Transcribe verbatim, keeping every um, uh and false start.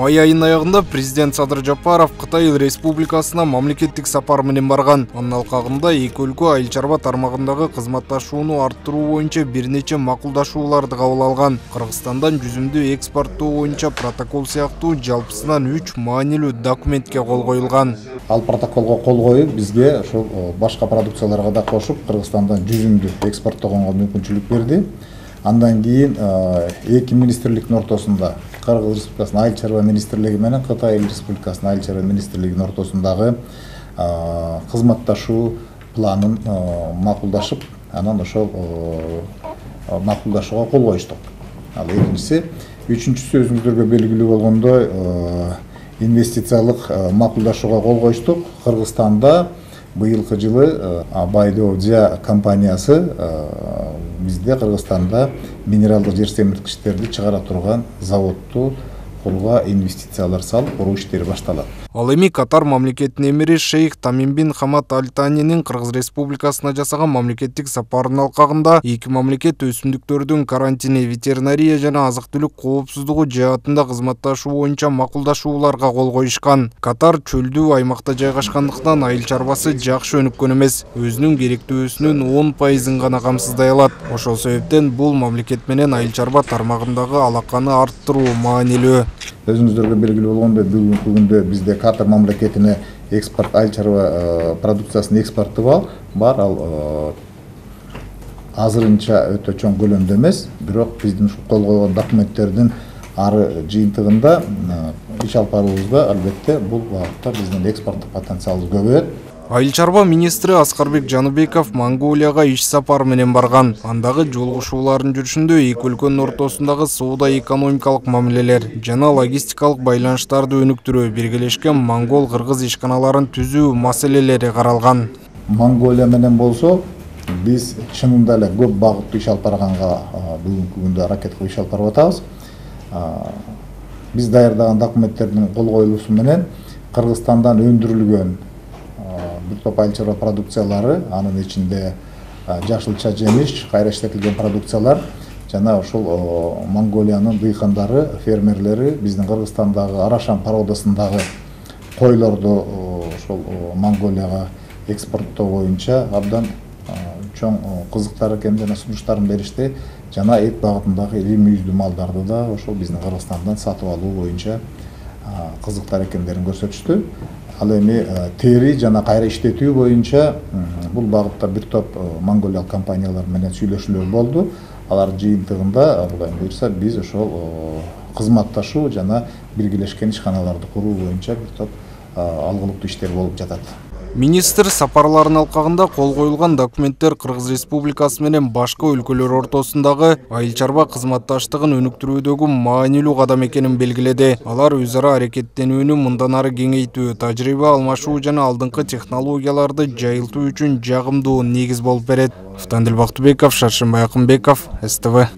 Май айынын аягында президент Садыр Жапаров Кытай Республикасына мамлекеттик сапар менен барган. Анын алкагында эки өлкө айыл чарба тармагындагы кызматташууну арттыруу боюнча бир нече макулдашууларды кабыл алган. Кыргызстандан жүзүмдү экспорттоо боюнча протокол сыяктуу жалпысынан үч маанилүү документке кол коюлган. Ал протоколго кол коюп, бизге ошол башка продукцияларга да кошуп, Кыргызстандан жүзүмдү экспорттогонго мүмкүнчүлүк берди. Андан кийин эки министрликтин ортосунда Кыргыз Республикасынын айыл чарба министрлиги менен Кытай Республикасынын айыл чарба министрлигинин ортосундагы кызматташуу планын макулдашып, анан ошол макулдашууга кол коюштук. Ал экинчиси, үчүнчүсү өзүңүздөргө белгилүү болгондой инвестициялык макулдашууга кол коюштук. Кыргызстанда быйылкы жылы Байдоодия компаниясы бизде Кыргызстанда минералдык жер семирткичтерди чыгара турган заводду курууга инвестициялар салып, куруу иштери башталат. Ал эми Катар мамлекетинин эмири Шейх Тамим бин Хамад Аль Танинин Кыргыз Республикасына жасаган мамлекеттик сапарынын алкагында эки мамлекет өсүмдүктөрдүн карантини, ветеринария жана азык-түлүк коопсуздугу жаатында кызматташуу боюнча макулдашууларга кол коюшкан. Катар чөлдүү аймакта жайгашкандыктан айыл чарбасы жакшы өнүккөн эмес, өзүнүн керектүүсүнүн он пайызын гана камсыздай алат. Ошол себептен бул мамлекет менен айыл чарба тармагындагы алаканы арттыруу маанилүү. Өзүңүздөргө белгилүү болгондой, бүгүнкү күндө бизде Катар мамлекетине экспорт айыл чарба продукциясынын экспорту бар. Ал азырынча өтө чоң көлөмдө эмес, бирок биздин кол койгон документтердин ары жыйынтыгында иш алып баруубузда албетте бул багытта биздин экспорттук потенциалыбыз көбөйөт. Айыл чарба министри Аскарбек Жаныбеков Монголияга иш сапар менен барган. Андагы жолугушуулардын жүрүшүндө эки өлкөнүн ортосундагы соода-экономикалык мамилелер жана логистикалык байланыштарды өнүктүрүү, биргелешкен монгол-кыргыз ишканаларын түзүү маселелери каралган. Монголия менен болсо, биз чынында эле көп багыттуу иш алып барганга бүгүнкү күндө аракет кылып иш алып барып атабыз. Биз даярдаган документтердин кол коюлуусу менен Кыргызстандан өндүрүлгөн бир топ айыл чарба продукциялары, анын ичинде жашылча жемиш, кайра иштетилген продукциялар жана ошол Монголиянын дыйкандары, фермерлери биздин Кыргызстандагы Арашан породасындагы койлорду ошол Монголияга экспорттоо боюнча абдан чоң кызыктар экен жана сунуштарын беришти. Жана эт багытындагы ири мүйүздүү малдарды да ошол биздин Кыргызстандан сатып алуу боюнча кызыктар экендерин көрсөтүштү. Ал эми тери жана кайра иштетүү боюнча бул багытта бир топ монголиялык компаниялар менен сүйлөшүүлөр болду. Алар жыйынтыгында Кудай буйрса биз ошол кызматташуу жана биргелешкен ишканаларды куруу боюнча бир топ алгылыктуу иштер болуп жатат. Министр сапарларынын алкагында кол коюлган документтер Кыргыз Республикасы менен башка өлкөлөр ортосундагы айыл чарба кызматташтыгын өнүктүрүүдөгү маанилүү кадам экенин белгиледи. Алар өз ара аракеттенүүнү мындан ары кеңейтүү, тажрыйба алмашуу жана алдыңкы технологияларды жайылтуу үчүн жагымдуу негиз болуп берет. Автандил Бактыбеков, Шаршембай Акынбеков, эс тэ вэ.